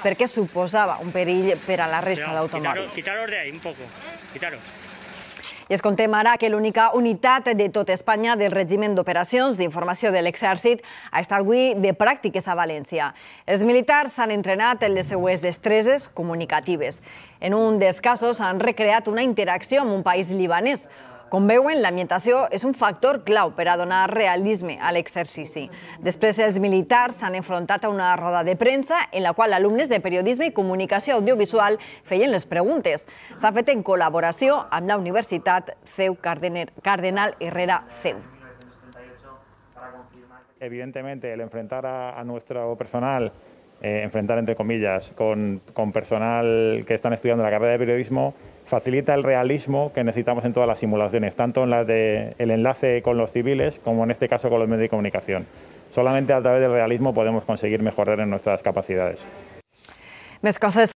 perquè suposava un perill per a la resta d'automòbils. Quitaros de ahí un poco, quitaros. I es contem ara que l'única unitat de tot Espanya del Regiment d'Operacions d'Informació de l'Exèrcit ha estat avui de pràctiques a València. Els militars s'han entrenat en les seues destreses comunicatives. En un dels casos han recreat una interacció amb un país libanès. Com veuen, l'ambientació és un factor clau per a donar realisme a l'exercici. Després, els militars s'han enfrontat a una roda de premsa en la qual alumnes de periodisme i comunicació audiovisual feien les preguntes. S'ha fet en col·laboració amb la Universitat CEU Cardenal Herrera CEU. Evidentemente, el enfrentar a nuestro personal, enfrentar entre comillas, con personal que están estudiando la carrera de periodismo, facilita el realismo que necesitamos en todas las simulaciones, tanto en las del enlace con los civiles como en este caso con los medios de comunicación. Solamente a través del realismo podemos conseguir mejorar en nuestras capacidades. Més coses